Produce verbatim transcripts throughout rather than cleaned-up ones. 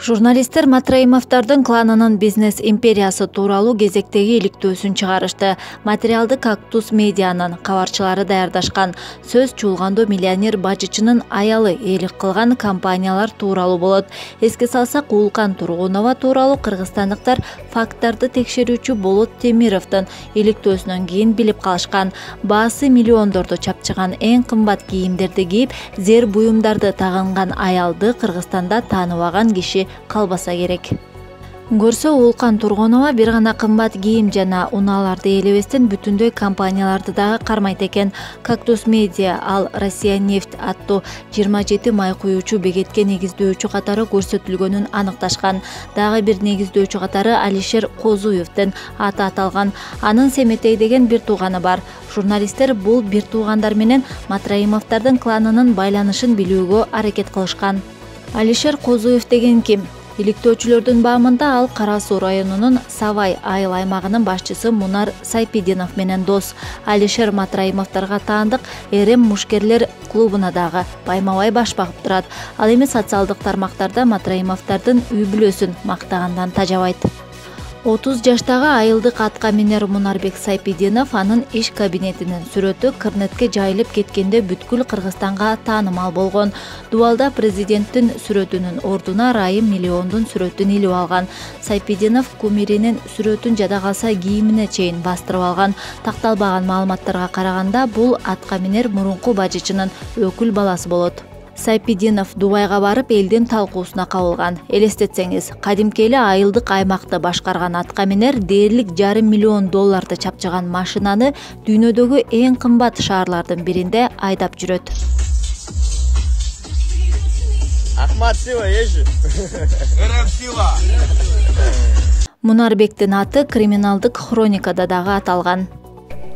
Журналисттер Матраимовдордун кланынын бизнес империясы тууралуу кезектеги иликтөөсүн чыгарышты. Материалды Кактус медианын кабарчылары даярдашкан. Сөз чуулгандуу миллионер бажычынын аялы ээлик кылган компаниялар тууралуу болот. Эске салсак, Улкан Тургунова тууралуу кыргызстандыктар факттарды текшерүүчү Болот Темировдун иликтөөсүнөн кийин билип калышкан. Баасы миллиондорду чапчыган эң кымбат кийимдерди кийип, зер буюмдарды тагынган аялды Кыргызстанда тааныбаган киши калбаса керек. Көрсө, Улкан Тургунова бир гана кымбат кийим жана унааларды ээлебестен бүтүндөй компанияларды дагы кармайт экен. Кактус медиа ал Россия нефть аттуу жыйырма жети май куюучу бекетке негиздөөчү катары көрсөтүлгөнүн аныкташкан. Дагы бир негиздөөчү катары Алишер Козуевдин аты аталган. Анын Семетей деген бир тууганы бар. Журналисттер бул бир туугандар менен Матраимовдордун кланынын байланышын билүүгө аракет кылышкан. Алишер Козуев деген ким? Иликтөөчүлөрдүн баамында ал Кара Суу районунун Савай айыл аймагынын башчысы Мунар Сайпидинов менен дос. Алишер Матраимовдорго таандык Эрем мушкерлер клубуна дагы байма-бай баш багып турат. Ал эми социалдык тармактарда Матраимовдордун үй бүлөсүн мактагандан тажабайт. отуз жаштагы айылдык атка минер Мунарбек Сайпидинов анын иш кабинетинин сүрөтү Кырнетке жайылып кеткенде бүткүл Кыргызстанга таанымал болгон. Дубалда президенттин сүрөтүнүн ордуна Райым миллиондун сүрөтүн илип алган. Сайпидинов кумиринин сүрөтүн жада калса кийимине чейин бастырып алган. Такталбаган маалыматтарга караганда, бул атка минер мурунку бажычынын өкүл баласы болот. Сайпидинов Дубайга барып элдин талкуусуна кабылган. Элестетсеңиз, кадимки эле айылдык аймакты башкарган атка минер дээрлик жарым миллион долларды чапчыган машинаны дүйнөдөгү эң кымбат шаарлардын биринде айдап жүрөт. Ахмат Сила ежи. Эрем Сила. Мунарбектин аты криминалдык хроникада дагы аталган.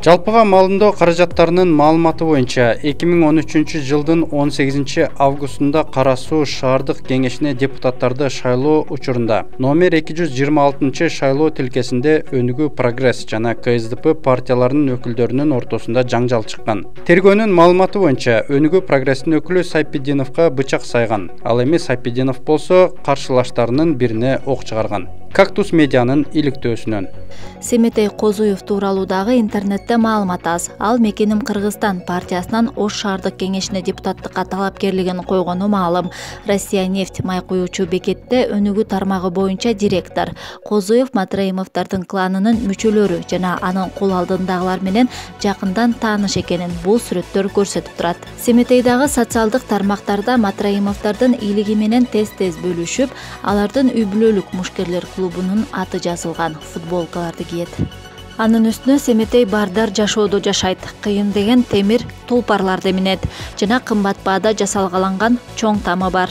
Жалпыга малымдоо каражаттарынын маалыматы боюнча эки миң он үчүнчү жылдын он сегизинчи августунда Кара Суу шаардык кеңешине депутаттарды шайлоо учурунда номер эки жүз жыйырма алтынчы шайлоо тилкесинде Өнүгүү Прогресс жана КСДП партияларынын өкүлдөрүнүн ортосунда жаңжал чыккан. Тергөөнүн маалыматы боюнча Өнүгүү Прогресстин өкүлү Сайпидиновго бычак сайган. Ал эми Сайпидинов болсо каршылаштарынын бирине ок чыгарган. Кактус медианын иликтөөсүнөн. Семетей Козуев тууралуу дагы интернетте маалымат аз. Ал Мекеним Кыргызстан партиясынан Ош шаардык кеңешине депутаттыкка талапкерлигин койгону маалым. Россия нефть май куюучу бекетте өнүгүү тармагы боюнча директор. Козуев Матраимовдордун кланынын мүчөлөрү жана анын кул алдындагылар менен жакындан тааныш экенин бул сүрөттөр көрсөтүп турат. Семетейдагы социалдык тармактарда Матраимовдордун бийлиги менен тез-тез бөлүшүп, алардын үй бүлөлүк мушкерлер клубунун аты жазылган футболкаларды кийет. Анын үстүнө Семетей бардар жашоодо жашайт, кыйын деген темир тулпарларды минет жана кымбат баада жасалгаланган чоң тамы бар.